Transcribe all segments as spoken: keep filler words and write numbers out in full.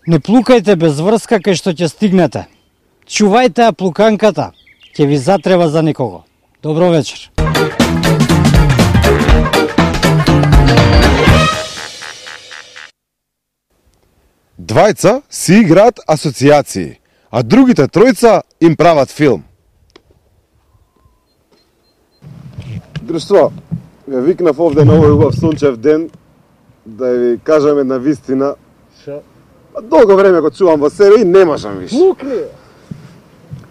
Не плукајте без врска кај што ќе стигнете. Чувајте ја плуканката, ќе ви затреба за некого. Добро вечер. Двајца си играат асоцијации, а другите тројца им прават филм. Друштво, ја викнав овде на овој убав сончев ден да ви кажам една вистина. Шо? Долго време го чувам во себе и не можам више. Лукни!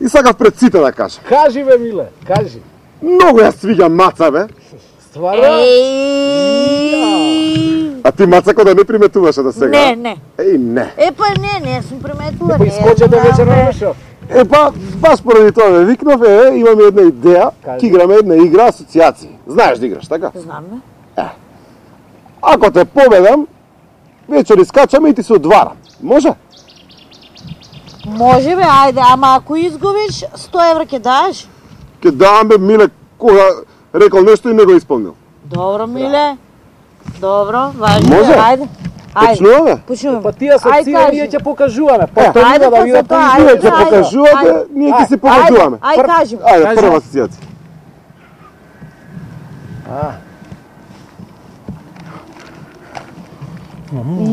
И сакав пред сите да кажам. Кажи бе, миле, кажи. Многу ја свиѓам Маца, бе. Стварно? А ти, Мацако, да не приметуваше до сега? Не, не. Еј, не. Е, па не, не сум приметила. Па искоче да вечер на шо? Е, па, баш поради тоа ме викнав, е, имаме една идеја, ќе играме една игра асоцијации. Знаеш да играш, така? Знам, бе. Е. Ако те победам, вечер искачаме и ти се одварам. Може? Може бе, ајде, ама ако изгубиш, сто евра ќе даш? Ке давам бе, Миле, кога рекол нешто и не го исполнил. Добро, Миле. Добро, важно. Може? Ајде. Ајде. Почнуваме? Почнуваме. Па тие асоције ние ќе покажуваме. Па тоа Ајде, да видат па за тоа, Вие ајде, ќе ајде. покажувате, Ајде. ние ќе се Ајде, покажуваме. Ајде, кажи. Ајде, Кажи. прва асоцијација.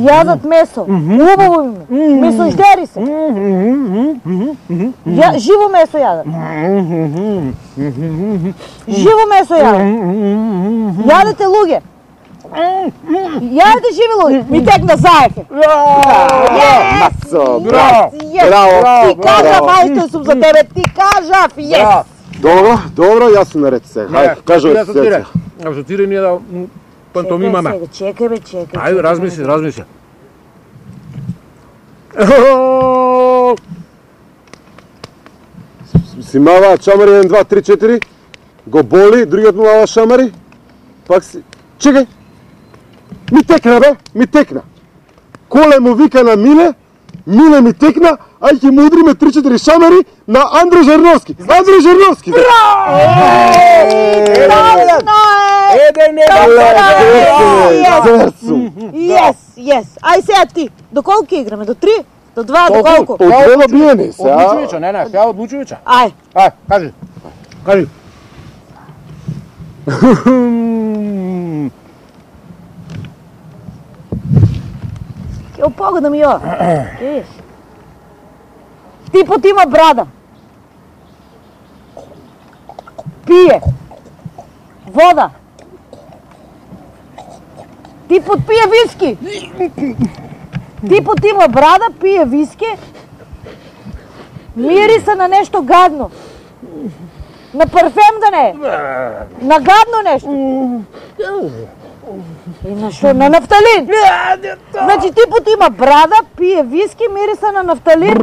Јадат месо. Убаво име. Месождери се. Ја, живо месо јадат. Живо месо јадат. Јадете луѓе. Јадете живи луѓе. Ми текна заеке. Мацо, браво. Браво. Ти кажав, ајде сум за тебе. Ти кажав, јес. Добро, добро, јас сум наред сега. Хајде, кажувате асоцијација. Асоцирај ние да пантомимаме. Чекај бе, чекај. Ајде, размисли, размисли. Си мава чамари еден, два, три, четири. Го боли, другиот му мава шамари. Пак си... Чекај! Ми текна, бе! Ми текна! Коле му вика на Миле, Миле ми текна, ај ќе му удриме три четири шамари на Андро Жерновски. Андро Жерновски! Точно е! Еден, Зерцу! Јес, јес. Ај сега ти. До колку играме? До три? До два? До колку? Од две добиени се, а? Одлучувача, не, не, ја одлучувача. Ај. Ај, кажи. Кажи. Ќе погодам и ова. Видиш? Типот има брада. Пие. Вода. Типот пие виски. Типот има брада, пие виски. Мириса на нешто гадно. На парфем да не е. На гадно нешто. И на шо? На нафталин. Значи типот има брада, пие виски, мириса на нафталин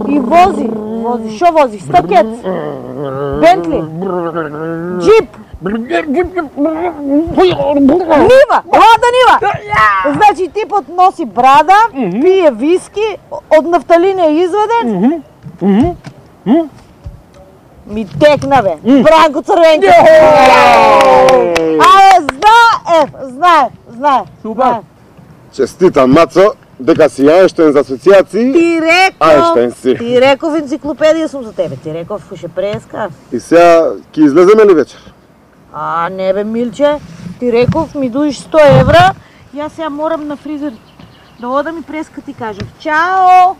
и вози. Вози. Шо вози? Стакет. Бентли. Джип. Нива. Лада нива. Значи типот носи брада, пие виски, од нафталин е изведен. Ми текна бе. Бранко Црвенко. Абе, знае, знае, знае. Супер. Честитам, Мацо, дека си Ајнштајн за асоцијации. Ти реков, Ајнштајн си. ти реков енциклопедија сум за тебе. Ти реков ше преска. И сега ќе излеземе ли вечер? А, не бе, Милче, ти реков ми дуиш сто евра, јас сега морам на фризер да одам и преска ти кажам. Чао!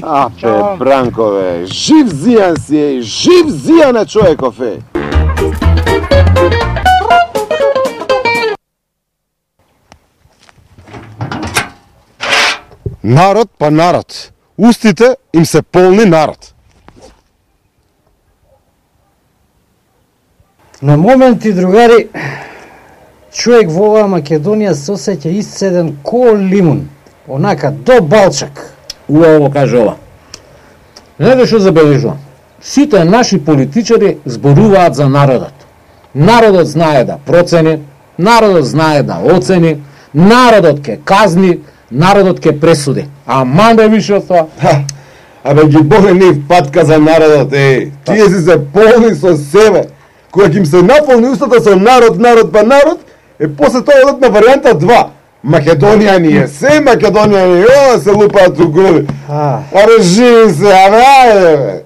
А, бе, Бранко, бе, жив зијан си е, жив зијан е човеков е. Народ па народ, устите им се полни народ. На моменти, другари, човек во оваа Македонија се осеќа исцеден ко лимун, онака до балчак. Убаво каже ова. Знаете што забележувам? Сите наши политичари зборуваат за народот. Народот знае да процени, народот знае да оцени, народот ке казни, народот ке пресуди. Ама не више од тоа. Ха, абе ги боле нив патка за народот, еј. Тие си се полни со себе. Кога ги им се наполни устата со народ, народ па народ, е после тоа одат на варијанта два. Македонија ни е се, Македонија ни е, о, се лупаат у груди. А. Абе живи се, абе ајде бе.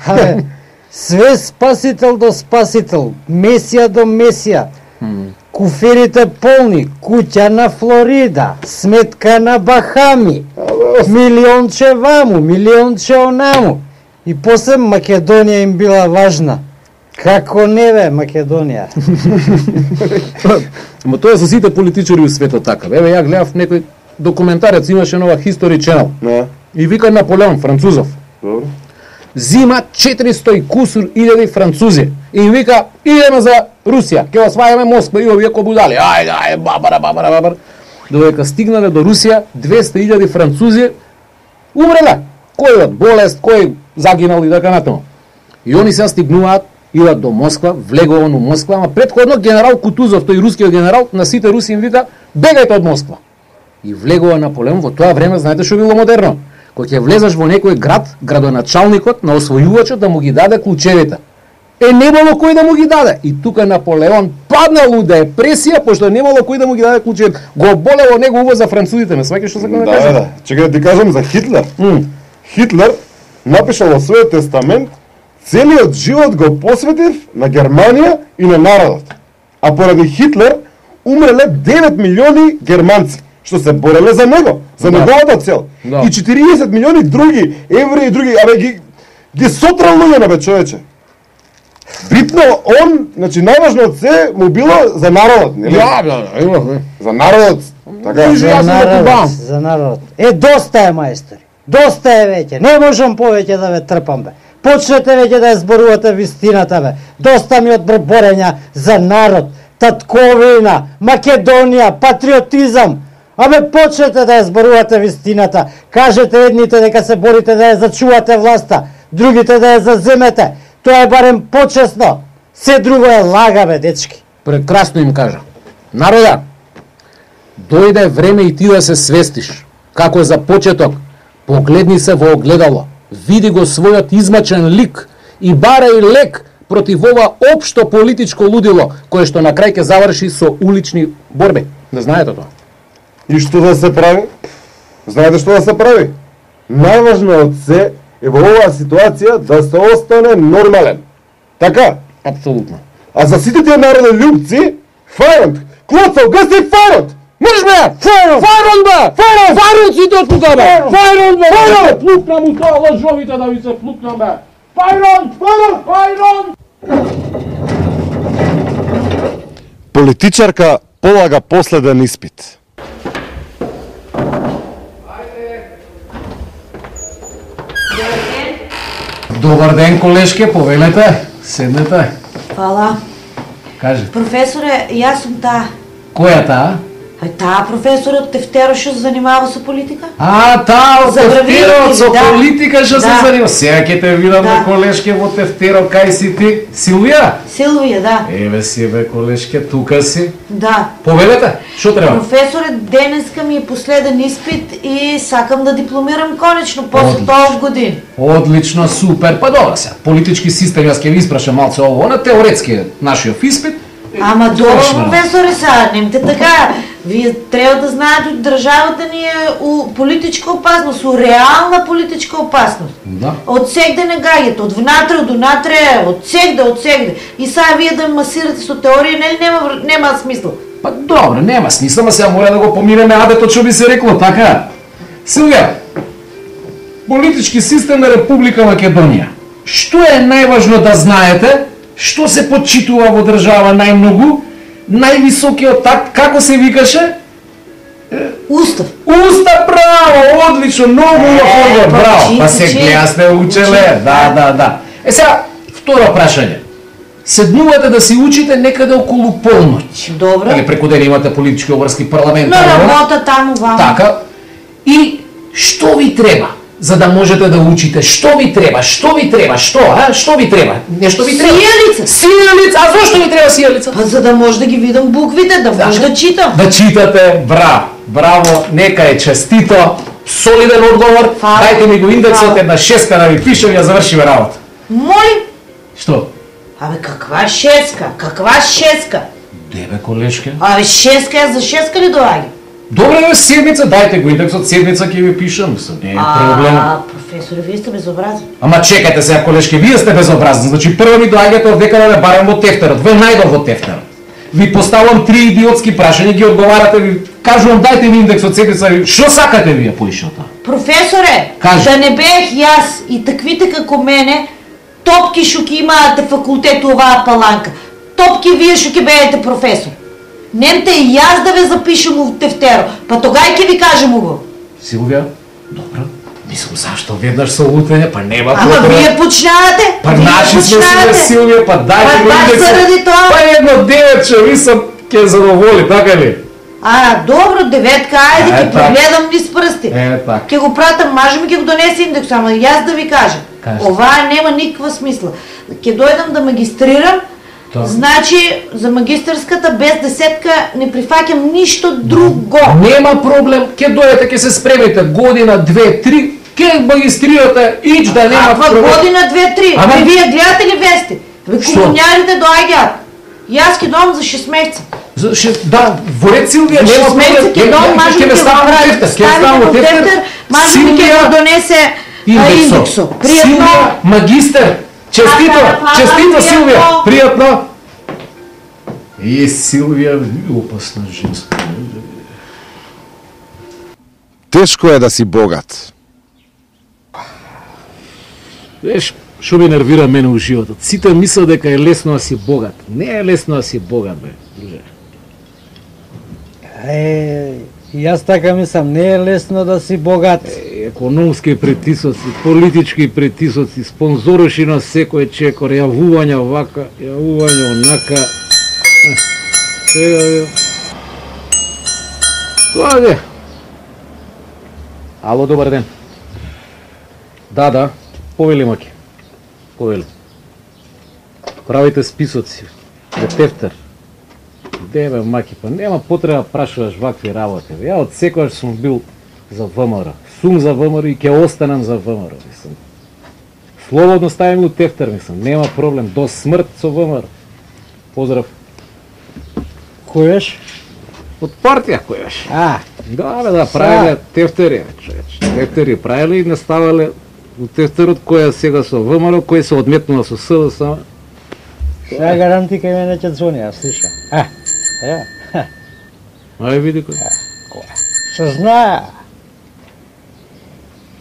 Абе, све спасител до спасител, Месија до Месија. Куферите полни, куќа на Флорида, сметка на Бахами, милионче ваму, милионче онаму. И после Македонија им била важна. Како не бе, Македонија? Ама тоа е за сите политичари у светот така. Еве ја гледав некој документарец, имаше нова History Channel. Не, И вика Наполеон, французов. добро. Зима четиристо и кусур илјади французи. И вика, идеме за Русија, ќе освајаме Москва, и овие ко будали. Ајде, ајде, бабара, бабара, бабара. Додека стигнале до Русија, двесте илјади французи умреле. Кој од болест, кој загинал и така натаму. И они сега стигнуваат, идат до Москва, влегуван у Москва, ама предходно генерал Кутузов, тој рускиот генерал, на сите руси им вика, бегајте од Москва. И влегува Наполеон, во тоа време, знаете што било модерно? Кога ќе влезеш во некој град, градоначалникот на освојувачот да му ги даде клучевите. Е, немало кој да му ги даде. И тука Наполеон паднал у депресија, пошто немало кој да му ги даде клучевите. Го болело него уво за французите, ме сваќаш што сакам да Да, кажам? да. Чекај да ти кажам за Хитлер. М. Хитлер напишал во својот тестамент целиот живот го посветив на Германија и на народот. А поради Хитлер умреле девет милиони германци што се бореле за него, за Да. неговата цел. Да. И четириесет милиони други евреи и други, абе ги ги сотрал луѓе на бе човече. Битно он, значи најважно од се му било за народот, нели? Да, да, да, имахме. За народот. Така. Служи, јас За сум да народ, кубам. за народ. Е, доста е, мајстори. Доста е веќе. Не можам повеќе да ве трпам, бе. Почнете веќе да ја зборувате вистината, бе. Доста ми од борења за народ, татковина, Македонија, патриотизам. Абе, почнете да ја зборувате вистината. Кажете едните дека се борите да ја зачувате власта, другите да ја заземете. Тоа е барем почесно. Се друго е лага, бе, дечки. Прекрасно им кажа. Народа, дојде време и ти да се свестиш. Како за почеток, погледни се во огледало, види го својот измачен лик и барај лек против ова општо политичко лудило, кое што на крај ќе заврши со улични борби. Не знаете тоа? И што да се прави? Знаете што да се прави? Најважно од се е во оваа ситуација да се остане нормален. Така? Апсолутно. А за сите тие народолюбци, фајронт! Клоцал, гаси фајронт! Можеш бе! Фајрон! Фајрон бе! Фајрон! Фајрон сите од тука бе! Фајрон бе! Фајрон! Плукна му тоа лажовите да ви се плукна бе! Фајрон! Фајрон! Фајрон! Политичарка полага последен испит. Добар ден, колешке, повелете. Седнете. Фала. Кажи. Професоре, јас сум таа. Која таа? Ај таа професорот Тефтеро што се занимава со политика? А, таа од Забравивте тефтерот ли, со да. политика што се Да. занима. Сега ќе те видам Да. бе, колешке во тефтеро, кај си ти? Силвија? Силвија, да. Еве си бе, колешке, тука си. Да. Повелете, што треба? Професоре, денеска ми е последен испит и сакам да дипломирам конечно после Одлично. толку години. Одлично, супер. Па добро се. Политички систем, јас ќе ви испрашам малце ово, на теоретски е нашиот испит. Ама добро, Точно. професоре, са, немте така. Вие треба да знаете, државата ни е у политичка опасност, у реална политичка опасност. Да. Од сегде не гаѓате, од внатре, од унатре, од сегде, од сегде. И сега вие да масирате со теорија, нели нема, нема смисла. Па добро, нема смисла, ма сега мора да го поминеме адето што би се рекло, така? Силвија, политички систем на Република Македонија. Што е најважно да знаете? Што се почитува во држава најмногу? Највисокиот такт, како се викаше? Устав. Уста, браво, одлично, многу убав одговор, па, браво. чити, Па се чити. гледа сте учеле, да, да, да. Е сега, второ прашање. Седнувате да си учите некаде околу полноќ. Добро. Или преку ден имате политички обврски, парламент, На ова, работа таму ваму. така. И што ви треба? за да можете да учите. Што ви треба? Што ви треба? Што, а? Што ви треба? Нешто ви треба? Сијалица. Сијалица. А зошто ви треба сијалица? Па за да може да ги видам буквите, да може да читам. Да читате, браво. Браво, нека е честито. Солиден одговор. Фала. Дайте ми го индексот Фала. една шеска да ви пишем и ја завршиме работа. Моли? Што? Абе, каква шеска? Каква шеска? Дебе, колешке. Абе, шеска е за шеска ли доаѓа? Добре, бе, седмица, дайте го индексот, седмица ќе ви пишам, мислам, не е проблем. А, професоре, вие сте безобразни. Ама чекајте сега, колешке, вие сте безобразни. Значи прво ми доаѓате од дека да ме барам во тефтерот. Ве најдов во тефтерот. Ви поставам три идиотски прашања, ги одговарате, ви кажувам дайте ми индексот седмица, ви што сакате вие поишота? Професоре, Кажи. да не бех јас и таквите како мене, топки шо ќе имаате факултет оваа паланка. Топки вие шо ќе бидете професор. Немте и јас да ве запишем во тефтеро, па тогај ќе ви кажем го. Силвија? Добро. Мислам, зашто веднаш со лутење, па нема Ама потреба. вие почнавате. Па вие наши сме почнавате. си Силвија, па дајте Па го баш индексот. заради тоа. Па едно девече, ви сам ќе задоволи, така ли? А, добро, деветка, ајде, Е, ќе така. прогледам низ прсти. Е, така. Ќе го пратам, мажем ќе го донесе индекс, ама јас да ви кажам. Кажи. Оваа нема никаква смисла. Ќе дојдам да магистрирам, Тоа. значи за магистарската без десетка не прифаќам ништо друго. Нема проблем, ќе дојдете, ќе се спремите година, две, три, ќе магистрирате, ич да нема Каква проблем. година, две, три? Ама- Бе, вие гледате ли вести? Бе, Што? комунјарите доаѓаат. Јас ќе доам за шест месеца. За ше- Да, во ред Силвија, За нема шест месеца проблем. ќе Нема- доам, нема- мажем ќе ме ќе го ставам во прави. тефтер, ќе ставам Ставите во во тефтер. тефтер, мажем ќе Силвија, го донесе а, индексо. индексо. Пријатно. Силвија, магистер. Честито, Фала, фала, честито Силвија, пријатно. пријатно. Е, Силвија, опасна женска. Тешко е да си богат. Веш, што ме нервира мене у животот? Сите мислат дека е лесно да си богат. Не е лесно да си богат, бе. друже. Е, јас така мислам, не е лесно да си богат. Е, економски притисоци, политички притисоци, спонзоруши на секој чекор, јавувања вака, јавувања онака. Е, Сега, бе. Тоа е. Ало, добар ден. Да, да, повели маки. Повели. Правите списоци. Де тефтер. Де бе, маки, па нема потреба прашуваш вакви работи. Ја од секојаш сум бил за ВМРО. Сум за ВМРО и ќе останам за ВМРО, мислам. Слободно ставим у тефтер, мислам. Нема проблем. До смрт со ВМРО. Поздрав. Којаш? Од партија којаш. А, Да, бе, да, правиле тефтери, човеч. Тефтери правиле и не ставале у тефтерот која сега со ВМРО, кој се одметнува со СДС. сега гаранти кај мене ќе звони, ја слушам. А, е, ха, Ај види кој. што знае.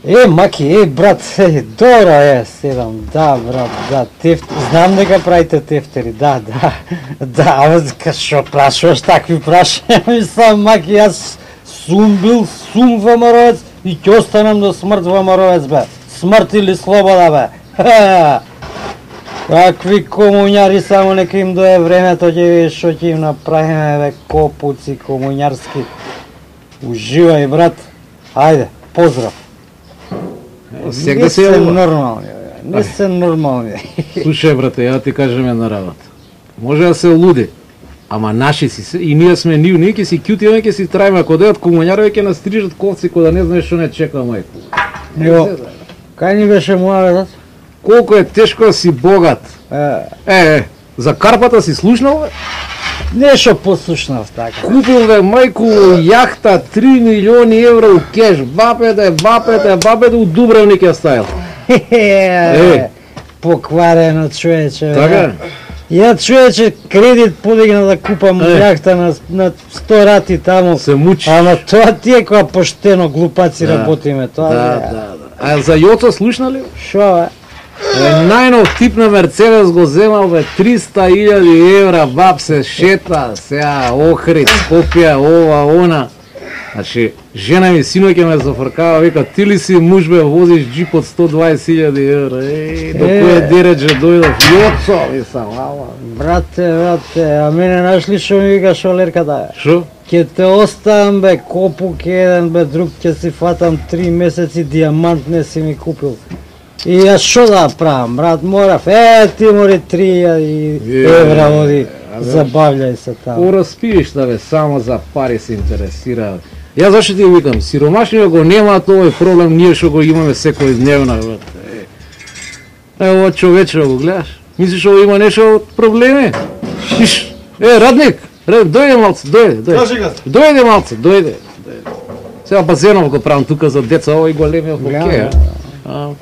Е, маки, е, брат, е, добро е, седам, да, брат, да, тефтер, знам дека правите тефтери, да, да, да, абе, ка шо прашуваш такви прашања, мислам, маки, јас сум бил, сум ВМРО-ец и ќе останам до смрт ВМРО-ец, бе, смрт или слобода, бе, ха, какви комуњари, само нека им дое времето, ќе видиш што ќе им направиме, бе, копуци комуњарски, уживај, брат, ајде, поздрав. Сега Не се се јавува. нормални, бе. Не се нормални. Слушај, брате, ја ти кажем една работа. Може да се луди, ама наши си се, и ние сме нив, ние ќе си кјутиме, ќе си трајме, ако дојат комуњарови ќе настрижат ковци кој да не знаеш што не чека мајко. Него, кај ни беше муабетот? Колку е тешко да си богат. Е, Е, е, за карпата си слушнал, бе? нешто послушнав така. Купил бе мајку јахта три милиони евра у кеш. Бапете, бапете, бапете у Дубровник ја ставил. Е, покварено човече. бе. Така? Ја човече кредит подигна да купам Е. јахта на, на сто рати таму. Се мучиш. Ама тоа ти е која поштено глупаци Да. работиме, тоа Да, е. да, да. А за Јоцо слушнали? Шо бе? Е, најнов тип на Мерцедес го земал бе триста илјади евра, баб се шета, сега Охрид, Скопје, ова, она. Значи, жена ми синоќе ме зафркава, вика, ти ли си муж бе, возиш джип од сто дваесет илјади евра, еј, до Е. кој дередже дојдов, Јоцо, мислам, ала. Брате, брате, а мене знаеш ли што ми вика шолерката? Шо? Ке те оставам бе, копук еден бе, друг ќе си фатам три месеци, диамант не си ми купил. И ја шо да правам, брат, морав, е, ти мори три евра оди, забављај се таму. Ораспиеш да бе, само за пари се интересира. Ја зашто ти викам, сиромашниот го немаат овој проблем, ние што го имаме секојдневно. Е, ова човече го гледаш? Мислиш ова има нешто од проблеми? Иш, е, Радник, дојде малце, дојде, дојде. Дојде малце, дојде. Сега базенов го правам тука за деца, овој големиот хокеј.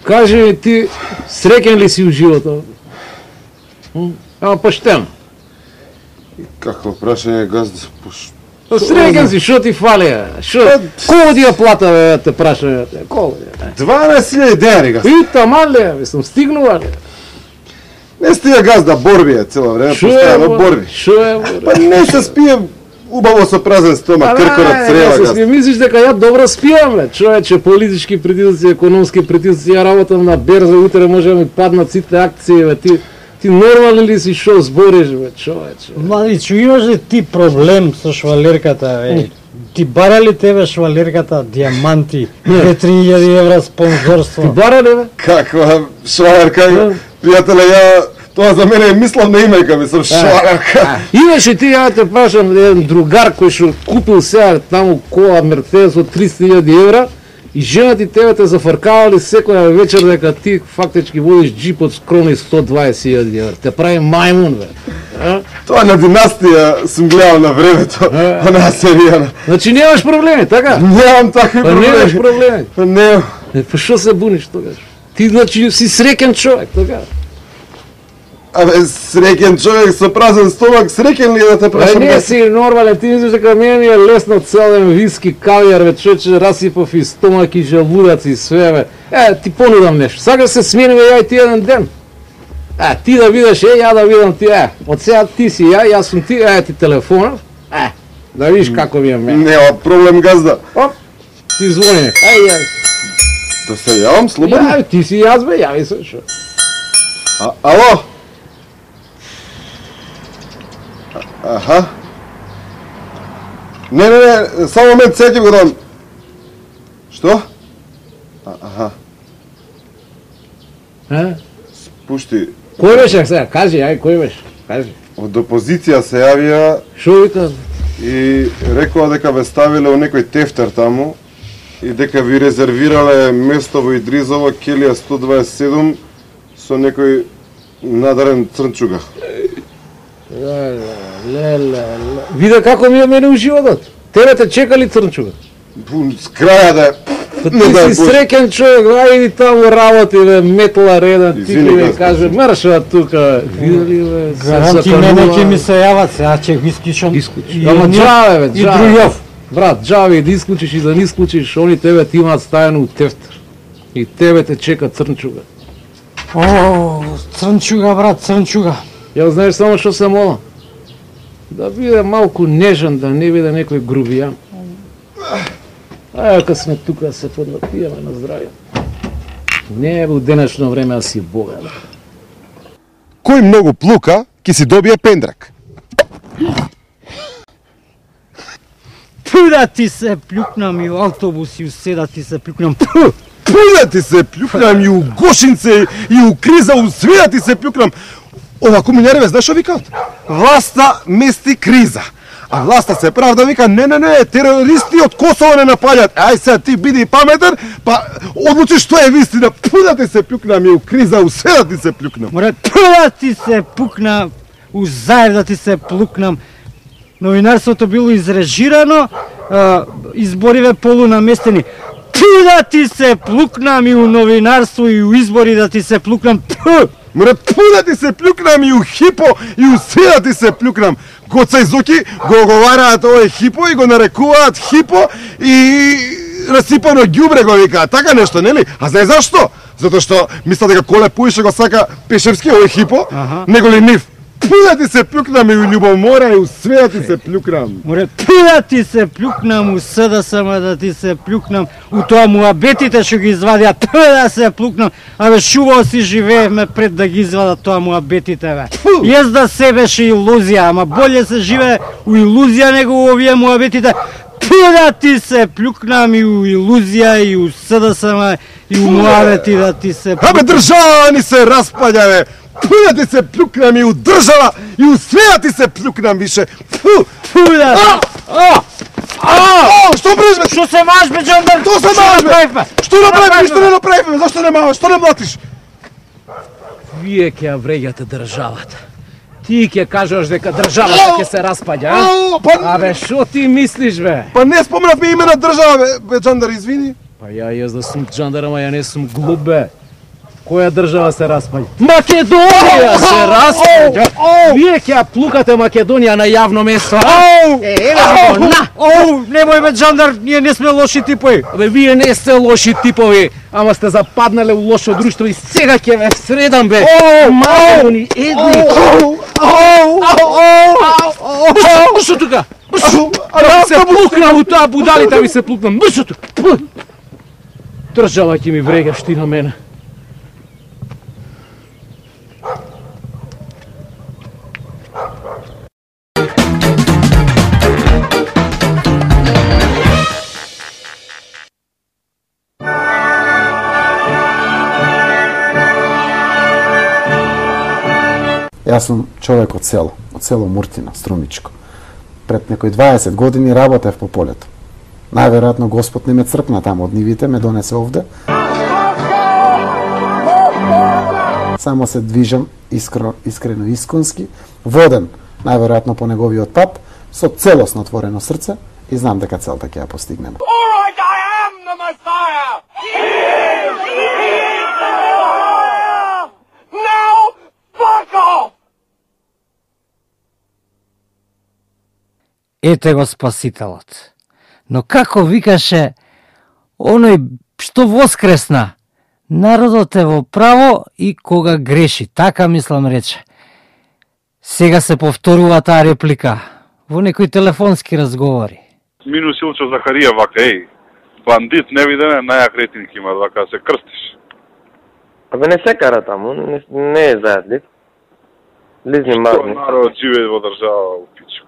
Кажи ми ти, среќен ли си у животот? Ама поштено. Какво прашање, газда? Среќен си, шо ти фали? Шо? Колко ти ја плата, бе, те прашање? Колко ти ја? дванаесет илјади денари, газда. И таман ли, мислам, стигнува ли? Не стига газда, борби е цело време, постојано борби. Шо е борби? Па не се спие убаво со празен стомак, кркорот црева, газда. Мислиш дека ја добро спијам, бе, човече, политички притисци, економски притисци, ја работам на берза, утре може да ми паднат сите акции, бе, ти Ти нормален ли си шо збориш, бе, човече? Младичу, имаш ли ти проблем со швалерката, бе? Ти бара ли тебе швалерката диаманти, две три илјади евра спонзорство? Ти бара ли, бе? Каква швалерка, пријателе, ја... Тоа за мене е мисловна имејка, мислам, швалерка. Имаше ти, ја те прашам, еден другар кој што купил сега таму кола Мерцедес од триста илјади евра, и жена ти тебе те зафркавали секоја вечер дека ти фактички водиш джип од скромни сто дваесет илјади евра. Те прави мајмун, бе. А? Тоа на династија сум гледал на времето, онаа серија. Значи немаш проблеми, така? Немам такви Па проблеми. немаш проблеми. Па немам. Е, па шо се буниш тогаш? Ти значи си среќен човек, така? Абе, среќен човек со празен стомак, среќен ли е да те Па прашам? не си нормален, ти мислиш дека мене ми е лесно цел ден виски, кавијар, бе, човече, расипав и стомак и желудац и све, бе. Е, ти понудам нешто. Сакаш се смениме ја и ти еден ден. Е, ти да видиш, е, ја да видам ти, е. Од сега ти си ја, јас сум ти, е, ти телефонов. Е, да видиш како ми е мене. Нема проблем, газда. Оп, ти звони. Ај, јај. Да се јавам, слободно? Ја, ти си јас, бе, јави се, шо. А, ало? Аха. Не, не, не, само момент, сега ќе го дам. Што? А, аха. Е? Пушти, Кој беше сега? Кажи, ај, кој беше? Кажи. од опозиција се јавија Шо вика? и рекоа дека ве ставиле у некој тефтер таму и дека ви резервирале место во Идризово, Келија сто дваесет и седум со некој надарен црнчуга. Леле, леле, леле. Виде како ми е мене у животот. Тебе те чекали црнчуга. С краја да Па не дај ти си Боже. среќен човек, ајди таму работи, бе, метла реден, ти Извини, ќе ми Гаспо. каже, марша тука, видели, бе, се Гаранти мене заканува. ќе ми се јават, сега ќе го исклучам. Исклучи. Ама джаве, бе, И джаве. друјов. Брат, джаве, да исклучиш и да не исклучиш, они тебе ти имаат ставено у тефтер. И тебе те чека црнчуга. О, црнчуга, брат, црнчуга. Ја знаеш само што се молам? Да биде малку нежен, да не биде некој грубијан. Ајде, кога сме тука да се поднапиеме на здравје. Не е во денешно време да си богат. Кој многу плука, ќе си добие пендрак. Пу да ти се плюкнам и у автобус и у седа ти се плюкнам. Пу! Пуда ти се плюкнам и у Гошинце, и у Криза, у свија ти се плюкнам. Ова комунјари, знаеш што викаат? Власта мести криза. А власта се правда вика, не, не, не, терористи од Косово не напаѓаат. Ај сега ти биди паметен, па одлучи што е вистина. Пуда ти се плюкнам и у Криза, у свија ти се плюкнам. Море, пу да ти се пукнам, у заев да ти се плукнам. Новинарството било изрежирано, а, избориве полунаместени. Пу да ти се плукнам и у новинарство и у избори да ти се плукнам. Пу! Море, пуда ти се плюкнам и у Хипо, и у свија ти се плюкнам. Гоца и Зоки го оговараат овој Хипо и го нарекуваат Хипо и расипано ѓубре го викаат, така нешто, нели? А знаеш зашто? Затоа што мисля дека Коле Пуише го сака Пешевски овој Хипо, Аха. него ли нив. Пу да ти се плюкнам и у љубомора и у све да ти се плюкнам. Море, пу да ти се плюкнам у СДСМ, да ти се плюкнам у тоа муабетите што ги извадија, пу да се плюкнам. Абе, шубаво си живеевме пред да ги извадат тоа муабетите, бе. Јес да се беше илузија, ама болje се живее у илузија него у овие муабетите. Пу да ти се плюкнам и у илузија и у СДСМ и у муабети да ти се плюкнам. Абе, држава ни се распаѓа, бе. Пу да ти се плюкнам и у држава и у све да ти се плюкнам више. Пу, пу да. А! А! А! Што правиш, бе? Што се маш, бе, Джандар? Што се маш, бе? Што направивме? Што не направивме? Зашто не маваш? Што не млатиш? Вие ќе ја вреѓате државата. Ти ќе кажеш дека државата ќе се распаѓа, а? Абе, шо ти мислиш, бе? Па не спомнавме име на држава, бе, бе, Джандар, извини. Па ја јас да сум Джандар, ама ја не сум глуп, бе. Која држава се распаѓа? Македонија се распаѓа! Вие ќе ја плукате Македонија на јавно место, а? Е, еве го, на! Оу, немој, бе, Джандар, ние не сме лоши типови. Абе, вие не сте лоши типови, ама сте западнале у лошо друштво и сега ќе ве средам, бе! Македони, едни! Бршо тука! Бршо! Да се плукнам у тоа будалите, ви се плукнам! Бршо тука! Држава ќе ми врегаш ти на мене. Јас сум човек од село, од село Муртина, Струмичко. Пред некои дваесет години работев по полето. Најверојатно Господ не ме црпна таму од нивите, ме донесе овде. Само се движам искрено, искрено исконски, воден најверојатно по неговиот пат, со целосно отворено срце и знам дека целта ќе ја постигнеме. Ете го Спасителот. Но како викаше оној што воскресна, народот е во право и кога греши, така мислам рече. Сега се повторува таа реплика во некои телефонски разговори. Минус Илчо Захарија вака, еј, бандит невиден, најак рейтинг има, вака се крстиш. Абе не се кара таму, не, не е заедлив. Лизни мазни. Што народ живее во држава у пичку.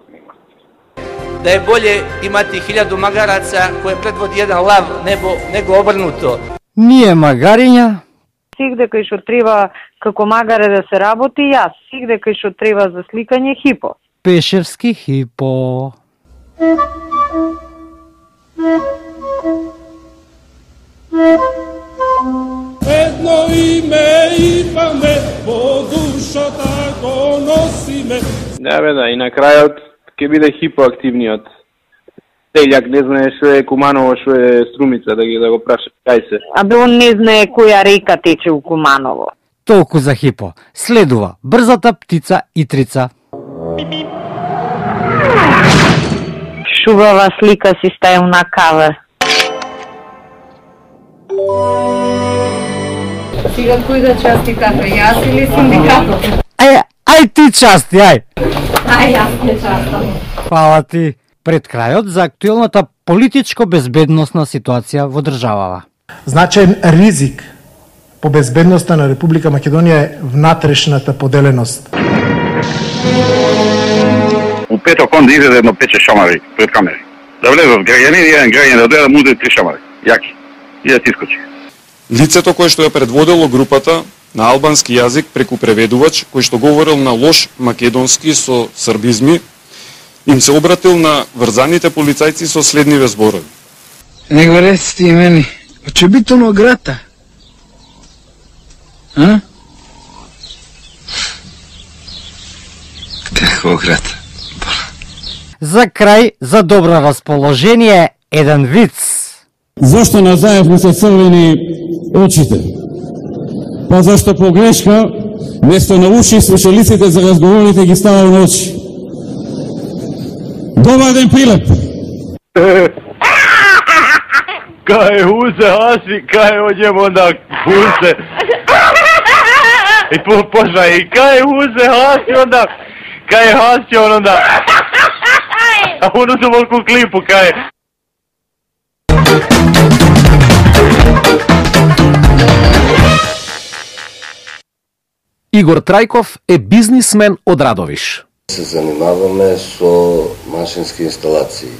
Да е болje imati hiljadu magaraca koje predvodi jedan lav nebo, nego obrnuto. Ние магариња. Сих дека што треба како магаре да се работи, јас. Сих дека што треба за сликање хипо. Пешевски хипо. Едно име имаме, по душата го носиме. Да, бе, да, и на крајот ќе биде хипоактивниот. Телјак не знае што е Куманово, што е Струмица, да ги да го праша кај се. Абе он не знае која река тече у Куманово. Толку за хипо. Следува брзата птица Итрица. Шубава слика си стајам на каве. Сега кој да части кафе, јас или синдикатот? Ај, ај ти части, ај. Ај, јас не частам. Фала ти. Пред крајот за актуелната политичко-безбедносна ситуација во државава. Значаен ризик по безбедноста на Република Македонија е внатрешната поделеност. У петок онда изеде едно пече шамари пред камери. Да влезат граѓани, еден граѓан да дојде да му удари три шамари. Јаки. И да ти искочи. Лицето кое што ја предводело групата на албански јазик преку преведувач, кој што говорил на лош македонски со србизми, им се обратил на врзаните полицајци со следниве зборови. Не го реците и мени, ќе бито на грата? А? Како грата? За крај, за добро расположение, еден виц. Зошто на Заев му се црвени очите? Па зашто по грешка, место на уши, слушалиците за разговорите ги ставал на очи. Добар ден, Пилеп! Кај узе, аси, кај оđemo na kuse. И почна и кај узе хаси онда, кај хаси онда. А оно се волку клипу кај. Игор Трајков е бизнисмен од Радовиш. Се занимаваме со машински инсталации.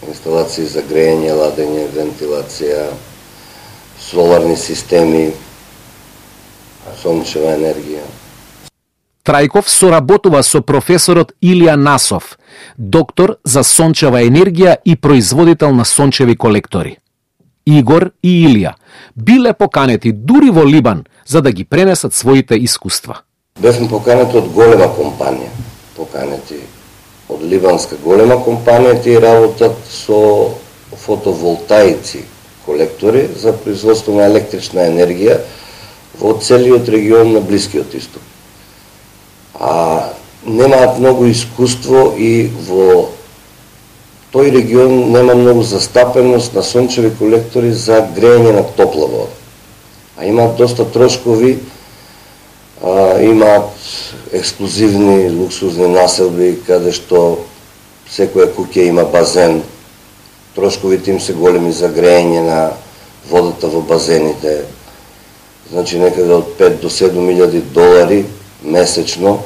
Инсталации за грејење, ладење, вентилација, соларни системи, сончева енергија. Трајков соработува со професорот Илија Насов, доктор за сончева енергија и производител на сончеви колектори. Игор и Илија биле поканети дури во Либан за да ги пренесат своите искуства. Бевме поканети од голема компанија, поканети од либанска голема компанија, тие работат со фотоволтаици колектори за производство на електрична енергија во целиот регион на Блискиот Исток. А немаат многу искуство и во тој регион нема многу застапеност на сончеви колектори за грејење на топла вода. А имаат доста трошкови, а, имаат ексклузивни, луксузни населби, каде што секоја куќа има базен. Трошковите им се големи за грејење на водата во базените. Значи некаде од пет до седум илјади долари месечно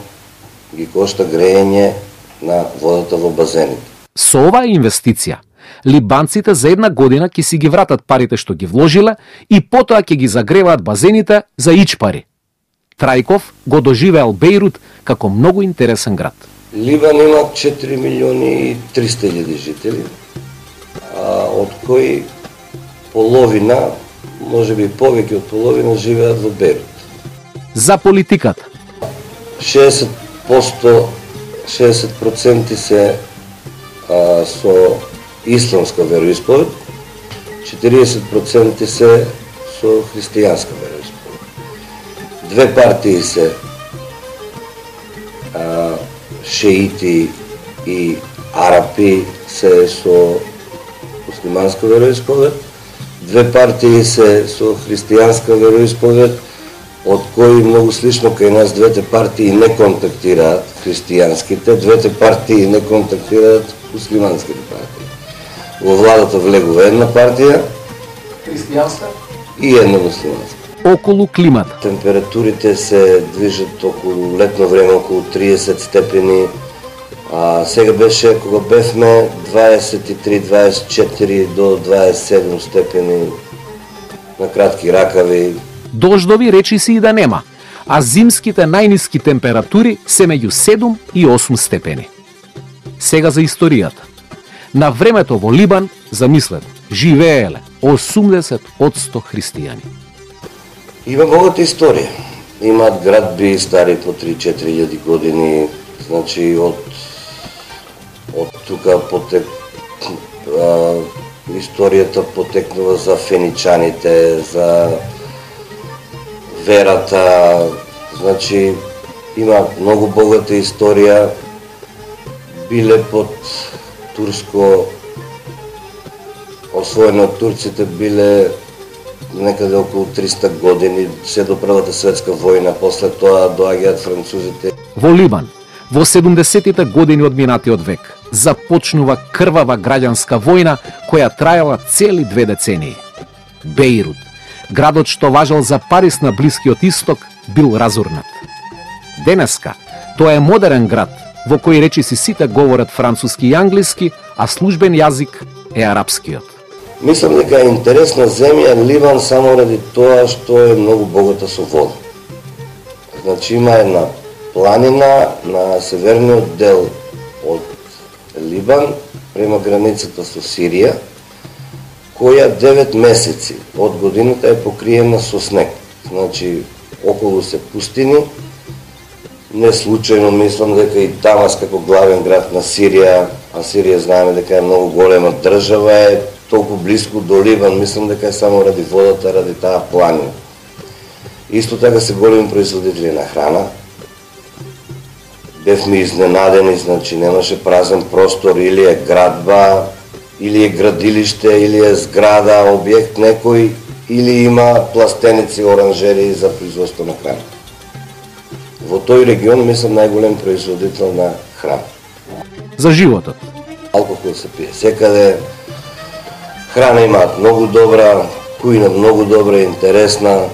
ги кошта грејење на водата во базените. Со оваа инвестиција, либанците за една година ќе си ги вратат парите што ги вложиле и потоа ќе ги загреваат базените за ич пари. Трајков го доживеал Бејрут како многу интересен град. Либан има четири милиони и триста илјади жители, а од кои половина, може би повеќе од половина, живеат во Бејрут. За политиката. шеесет проценти се а, со исламска вероисповед, четириесет проценти се со христијанска вероисповед. Две партии се а, шеити и арапи се со муслиманска вероисповед, две партии се со христијанска вероисповед, од кои многу слично кај нас двете партии не контактираат христијанските, двете партии не контактираат муслиманските партии. Во владата влегува една партија христијанска и една муслиманска. Околу климата. Температурите се движат околу летно време околу триесет степени. А сега беше кога бевме дваесет и три дваесет и четири до дваесет и седум степени на кратки ракави. Дождови речиси и да нема, а зимските најниски температури се меѓу седум и осум степени. Сега за историјата. На времето во Либан, замислете, живееле осумдесет одсто христијани. Има богата историја. Имаат градби стари по три-четири илјади години, значи од од тука потек а, историјата потекнува за феничаните, за верата, значи има многу богата историја, биле под турско освоено од турците, биле некаде околу триста години, се до Првата светска војна, после тоа доаѓаат французите. Во Либан, во седумдесетите години од минатиот век, започнува крвава граѓанска војна која траела цели две децении. Бејрут, градот што важел за Парис на Блискиот Исток, бил разурнат. Денеска, тоа е модерен град, во кој речиси сите говорат француски и англиски, а службен јазик е арапскиот. Мислам дека е интересна земја Ливан само ради тоа што е многу богата со вода. Значи има една планина на северниот дел од Либан, према границата со Сирија, која девет месеци од годината е покриена со снег. Значи, околу се пустини. Не случајно мислам дека и Дамас како главен град на Сирија, а Сирија знаеме дека е многу голема држава, е толку близко до Ливан, мислам дека е само ради водата, ради таа планина. Исто така се големи производители на храна. Бевме изненадени, значи немаше празен простор, или е градба, или е градилиште, или е зграда, објект некој, или има пластеници, оранжери за производство на храна. во тој регион мислам најголем производител на храна. За животот. Алкохол се пие секаде, храна имаат многу добра, кујна многу добра, интересна,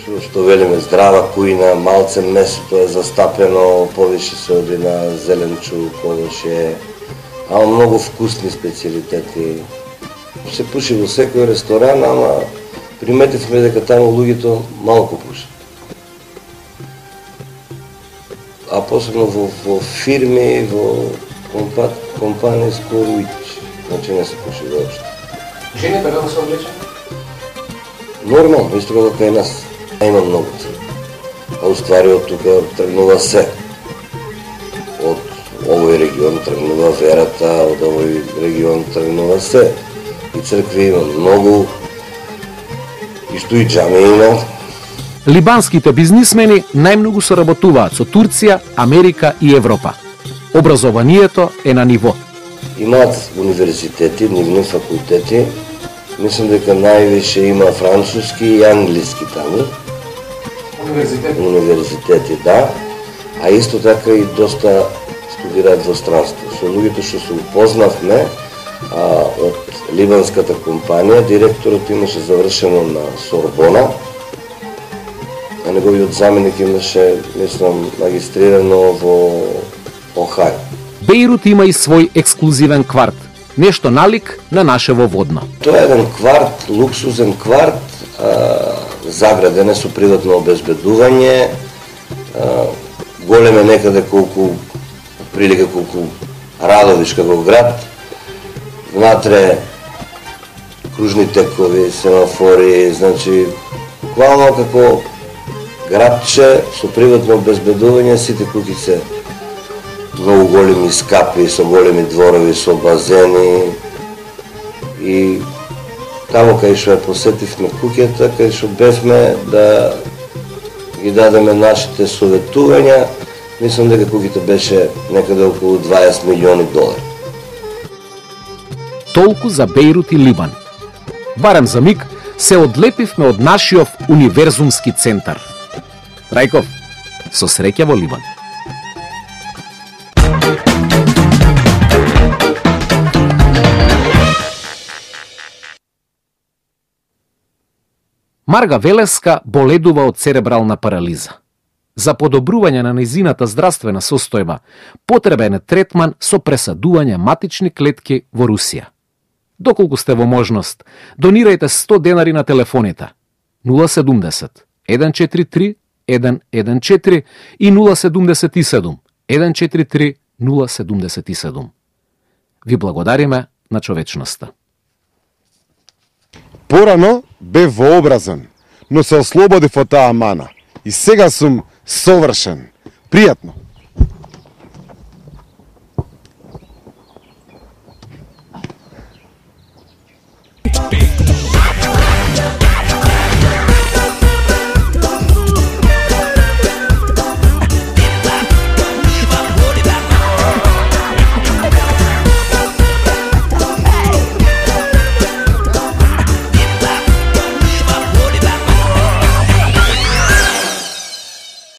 што, што велиме здрава кујна, малце месото е застапено, повише се оди на зеленчук, овоше, ама многу вкусни специјалитети. Се пуши во секој ресторан, ама приметивме дека таму луѓето малку пушат. А посебно во, во фирми, во компа, компании скоро ич, значи не се пуши воопшто. Жените како се облечени? Нормално, исто како кај нас. Има многу цркви. А уствари од тука тргнува се. Од овој регион тргнува верата, од овој регион тргнува се. И цркви има многу, исто и џами има. Либанските бизнисмени најмногу соработуваат со Турција, Америка и Европа. Образованието е на ниво. Имаат универзитети, нивни факултети. Мислам дека највише има француски и англиски таму. Универзитети? Универзитети, да. А исто така и доста студираат во странство. Со луѓето што се упознавме а, од либанската компанија, директорот имаше завршено на Сорбона, а неговиот заменик имаше, мислам, магистрирано во Охај. Бејрут има и свој ексклузивен кварт, нешто налик на нашево Водно. Тоа е еден кварт, луксузен кварт, а, заграден е со приватно обезбедување, а, голем е некаде колку, прилика колку Радовиш како град, внатре кружни текови, семафори, значи, буквално како градче со приватно обезбедување, сите куќи се многу големи скапи, со големи дворови, со базени. И таму кај што ја посетивме куќата, кај што бевме да ги дадеме нашите советувања, мислам дека куќата беше некаде околу дваесет милиони долари. Толку за Бејрут и Либан. Барем за миг се одлепивме од нашиот универзумски центар. Трајков, со среќа во Либан. Марга Велеска боледува од церебрална парализа. За подобрување на нејзината здравствена состојба потребен е третман со пресадување матични клетки во Русија. Доколку сте во можност, донирајте сто денари на телефоните нула седумдесет еден четири три еден еден четири и нула седумдесет и седум еден четири три нула седумдесет и седум. Ви благодариме на човечноста. Порано бев вообразен, но се ослободив од таа мана. И сега сум совршен. Пријатно.